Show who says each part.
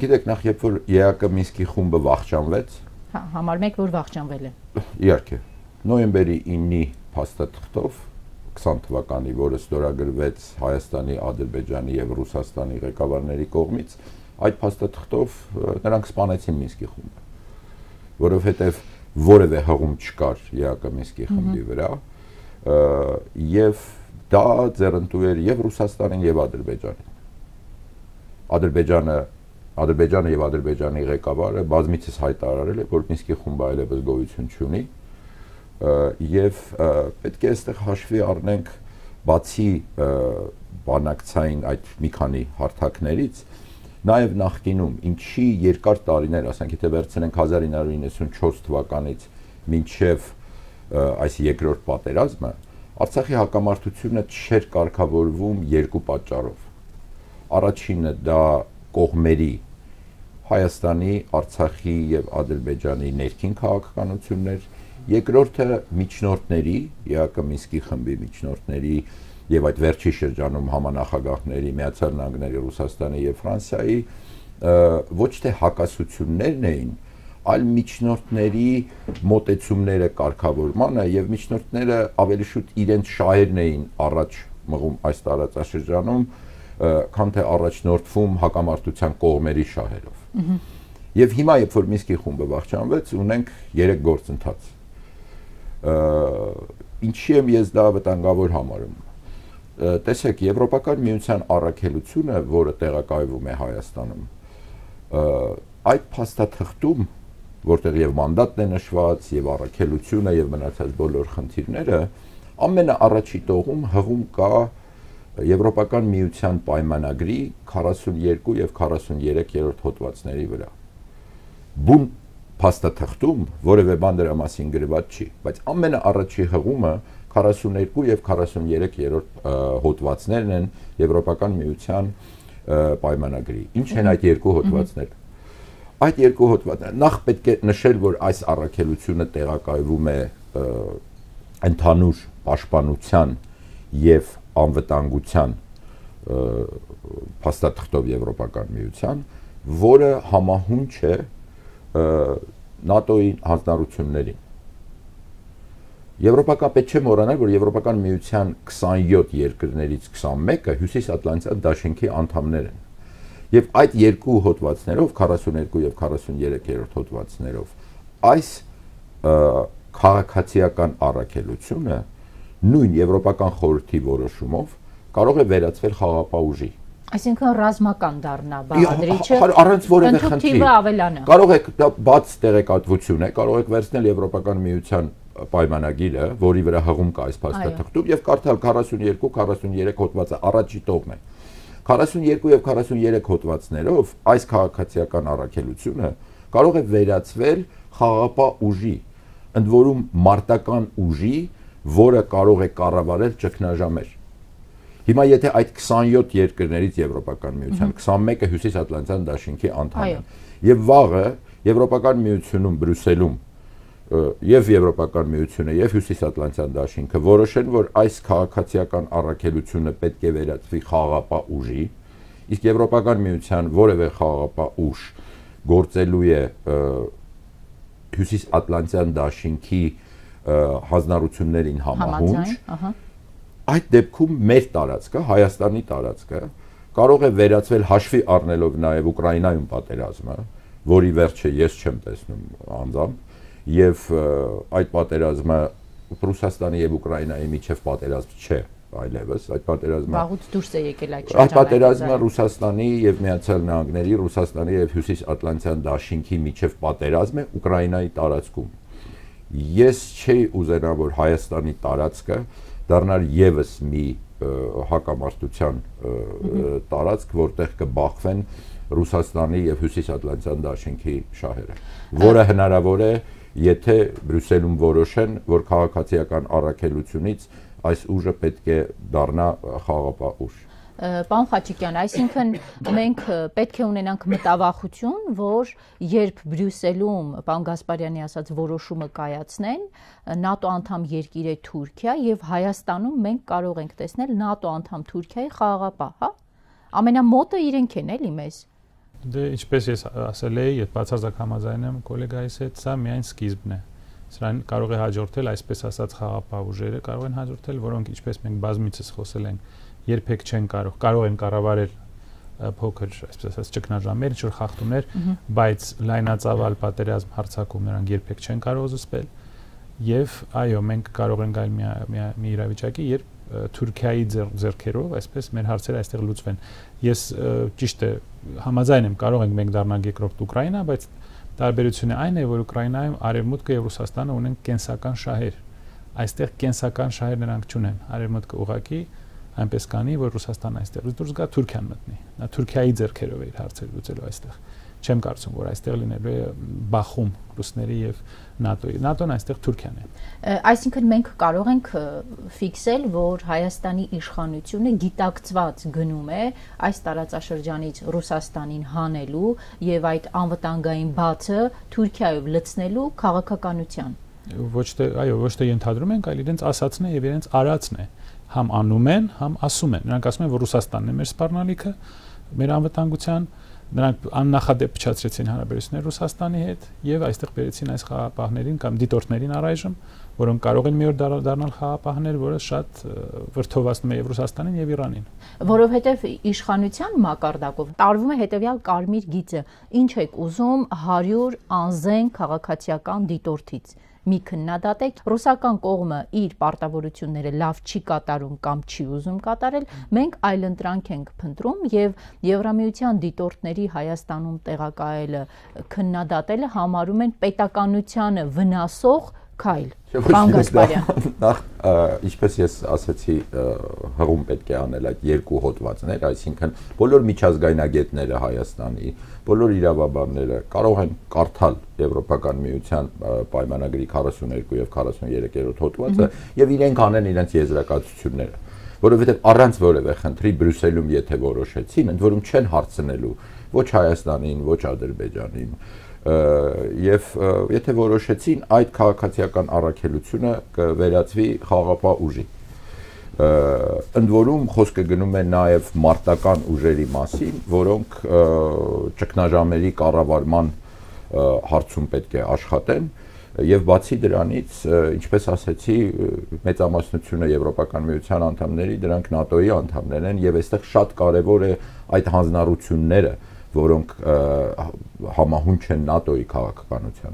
Speaker 1: Գիտեք, նախ երբ որ ԵԱԿ Մինսկի խումբը վախճանվեց,
Speaker 2: համար մեկ որ վախճանվել է։
Speaker 1: Իհարկե, նոյեմբերի 9-ի փաստաթղթով 20 թվականի, որը ստորագրվեց Հայաստանի, Ադրբեջանի եւ Ռուսաստանի ղեկավարների կողմից, այդ փաստաթղթով նրանք սպանեցին Մինսկի խումբը, որովհետեւ որևէ հղում չկար ԵԱԿ Մինսկի խմբի վրա, եւ դա ձեռնտու էր եւ Ռուսաստանին եւ Ադրբեջանին։ Ադրբեջանը եւ Ադրբեջանի ղեկավարը բազմիցս հայտարարել է, որ Մինսկի խումբը այլևս գոյություն չունի, եւ պետք է այստեղ հաշվի առնենք բացի բանակցային այդ մի քանի հարթակներից, նաեւ նախկինում ինչի երկար տարիներ, ասենք եթե վերցնենք 1994 թվականից մինչեւ այս երկրորդ պատերազմը, Արցախի հակամարտությունը չէր կարգավորվում երկու պատճառով։ Առաջինը դա կողմերի Հայաստանի, Արցախի եւ Ադրբեջանի ներքին քաղաքականություններ, երկրորդը միջնորդների, ԵԱԿ Մինսկի խմբի միջնորդների եւ այդ վերջի շրջանում համանախագահների Միացյալ Նահանգների, Ռուսաստանի եւ Ֆրանսիայի ոչ թե հակասություններն էին, այլ միջնորդների մոտեցումները կարգավորմանը եւ միջնորդները ավելի շուտ իրենց շահերն էին առաջ մղում այս տարածաշրջանում, քան թե առաջնորդվում հակամարտության կողմերի շահերով։ Եվ հիմա երբ որ Մինսկի խումբը վախճանվեց, ունենք 3 գործընթաց։ Ինչի եմ ես դա վտանգավոր համարում։ Տեսեք, Եվրոպական միության առաքելությունը, որը տեղակայվում է Հայաստանում, այդ փաստաթղթում, որտեղ եւ մանդատն է նշված, եւ առաքելությունը եւ մնացած բոլոր խնդիրները, ամենաառաջի տողում հղում կա Եվրոպական միության պայմանագրի 42 եւ 43-րդ հոդվածների վրա։ Բուն փաստաթղթում որևէ բան դրա մասին գրված չի, բայց ամենաառաջի հղումը 42 եւ 43-րդ հոդվածներն են Եվրոպական միության պայմանագրի։ Ինչ են այդ երկու հոդվածները։ Այդ երկու հոդվածները նախ պետք է նշել, որ այս առաքելությունը տեղակայվում է ընդհանուր պաշտպանության եւ անվտանգության փաստաթղթով Եվրոպական միության, որը համահունչ է ՆԱՏՕ-ի հանձնառություններին։ Եվրոպական պետք չէ մոռանալ, որ Եվրոպական միության 27 երկրներից 21-ը Հյուսիսատլանտյան դաշինքի անդամներ են։ Եվ այդ երկու հոդվածներով, 42 եւ 43-րդ հոդվածներով, այս քաղաքացիական առաքելությունը նույն Եվրոպական խորհրդի որոշումով կարող է վերածվել խաղաղապահ ուժի։
Speaker 2: Այսինքն ռազմական դառնա բաղադրիչը,
Speaker 1: առանց որևէ խնդրի
Speaker 2: ավելանա։
Speaker 1: Կարող եք դա բաց տեղեկատվություն է, կարող եք վերցնել Եվրոպական միության պայմանագիրը, որի վրա հղում կա այս փաստաթղթում, եւ կարդալ 42-43 հոդվածը առաջի տողն է։ 42 եւ 43 հոդվածներով այս քաղաքացիական առաքելությունը կարող է վերածվել խաղաղապահ ուժի, ընդ որում մարտական ուժի, որը կարող է կառավարել ճգնաժամեր։ Հիմա եթե այդ 27 երկրներից Եվրոպական միության 21-ը Հյուսիսատլանտյան դաշինքի անդամ են, եւ վաղը Եվրոպական միությունում Բրյուսելում եւ Եվրոպական միությունը եւ Հյուսիսատլանտյան դաշինքը որոշեն, որ այս քաղաքացիական առաքելությունը պետք է վերածվի խաղաղապահ ուժի, իսկ Եվրոպական միության որևէ խաղաղապահ ուժ գործելու է Հյուսիսատլանտյան դաշինքի հանձնառություններին համահունչ, այդ դեպքում մեր տարածքը, Հայաստանի տարածքը կարող է վերածվել հաշվի առնելով նաեւ Ուկրաինայում պատերազմը, որի վերջը ես չեմ տեսնում անձամբ, եւ այդ պատերազմը Ռուսաստանի եւ Ուկրաինայի միջև պատերազմ չէ այլևս, այդ պատերազմը
Speaker 2: վաղուց դուրս է եկել այդ շրջանից։
Speaker 1: Այդ պատերազմը Ռուսաստանի եւ Միացյալ Նահանգների, Ռուսաստանի եւ Հյուսիսատլանտյան դաշինքի միջև պատերազմ է Ուկրաինայի տարածքում։ Ես չէի ուզենա, որ Հայաստանի տարածքը դառնար եւս մի հակամարտության տարածք, որտեղ կբախվեն Ռուսաստանի եւ Հյուսիսատլանտյան դաշինքի շահերը, որը հնարավոր է, եթե Բրյուսելում որոշեն, որ քաղաքացիական առաքելությունից այս ուժը պետք է դառնա խաղաղապահ ուժ։
Speaker 2: Պարոն Խաչիկյան, այսինքն մենք պետք է ունենանք մտավախություն, որ երբ Բրյուսելում, պարոն Գասպարյանի ասած, որոշումը կայացնեն, ՆԱՏՕ անդամ երկիր է Թուրքիա եւ Հայաստանում մենք կարող ենք տեսնել ՆԱՏՕ անդամ Թուրքիայի խաղաղապահ, հա? Ամենամոտը իրենք են էլի մեզ։
Speaker 3: Դե ինչպես ես ասել էի, այդ բացարձակ համաձայն եմ գոլեգայիս հետ, սա միայն սկիզբն է։ Սրան կարող է հաջորդել այսպես ասած խաղապահ ուժերը, կարող են հաջորդել, որոնք ինչպես մենք բազմիցս խոսել ենք, երբեք չեն կարող են կառավարել փոքր, այսպես ասած, ճգնաժամեր, ինչ-որ խախտումներ, բայց լայնածավալ պատերազմ հարձակում նրանք երբեք չեն կարող զսպել։ Եվ այո, մենք կարող ենք գալ մի իրավիճակի, երբ Թուրքիայի ձեռքերով, այսպես մեր հարցերը այստեղ լուծվեն։ Ես ճիշտ է, համաձայն եմ, կարող ենք մենք դառնալ երկրորդ Ուկրաինա, բայց տարբերությունը այն է, որ Ուկրաինայում Արևմուտքը եւ Ռուսաստանը ունեն կենսական շահեր։ Այստեղ կենսական շահեր նրանք չունեն։ Արևմուտքը ուղղակի այնպես կանի, որ Ռուսաստանն այստեղից դուրս գա, Թուրքիան մտնի։ Նա Թուրքիայի ձեռքերով է իր հարցերը լուծելու այստեղ։ Չեմ կարծում, որ այստեղ լինելու է բախում ռուսների եւ ՆԱՏՕ-ի։ ՆԱՏՕ-ն այստեղ Թուրքիան է։
Speaker 2: Այսինքն մենք կարող ենք ֆիքսել, որ Հայաստանի իշխանությունը գիտակցված գնում է այս տարածաշրջանից Ռուսաստանին հանելու եւ այդ անվտանգային բացը Թուրքիայով լցնելու քաղաքականության։
Speaker 3: Ոչ թե ենթադրում ենք, այլ իրենց ասածն է եւ իրենց արածն է։ Համ անում են, համ ասում են։ Նրանք ասում են, որ Ռուսաստանն է մեր սպառնալիքը, մեր անվտանգության, նրանք աննախադեպ փչացրեցին հարաբերությունները Ռուսաստանի հետ եւ այստեղ բերեցին այս խաղապահներին կամ դիտորդներին առայժմ, որոնք կարող են մի օր դառնալ խաղապահներ, որը շատ վրդովացնում է եւ Ռուսաստանին եւ Իրանին։
Speaker 2: Որովհետեւ իշխանության մակարդակով տարվում է հետեւյալ կարմիր գիծը. ինչ եք ուզում 100 անզեն քաղաքացիական դիտորդից։ Մի քննադատեք, ռուսական կողմը իր պարտավորությունները լավ չի կատարում կամ չի ուզում կատարել, մենք այլընտրանք ենք փնտրում եւ Եվրամիության դիտորդների Հայաստանում տեղակայելը քննադատելը համարում են պետականությանը վնասող քայլ։ Պարոն Գասպարյան,
Speaker 1: նախ ինչպես ես ասացի, հղում պետք է անել այդ երկու հոդվածներ, այսինքն բոլոր միջազգայնագետները Հայաստանի, բոլոր իրավաբանները կարող են կարդալ Եվրոպական միության պայմանագրի 42 եւ 43-րդ հոդվածը եւ իրենք անեն իրենց եզրակացությունները, որովհետեւ առանց որևէ խնդրի Բրյուսելում եթե որոշեցին, ընդ որում չեն հարցնելու ոչ Հայաստանին, ոչ Ադրբեջանին, եւ եթե որոշեցին այդ քաղաքացիական առաքելությունը կվերածվի խաղապահ ուժի։ Ընդ որում խոսքը գնում է նաեւ մարտական ուժերի մասին, որոնք ճգնաժամերի կառավարման հարցում պետք է աշխատեն եւ բացի դրանից, ինչպես ասացի, մեծամասնությունը Եվրոպական միության անդամների դրանք ՆԱՏՕ-ի անդամներ են եւ այստեղ շատ կարեւոր է այդ հանձնառությունները, որոնք համահունչ են ՆԱՏՕ-ի քաղաքականության։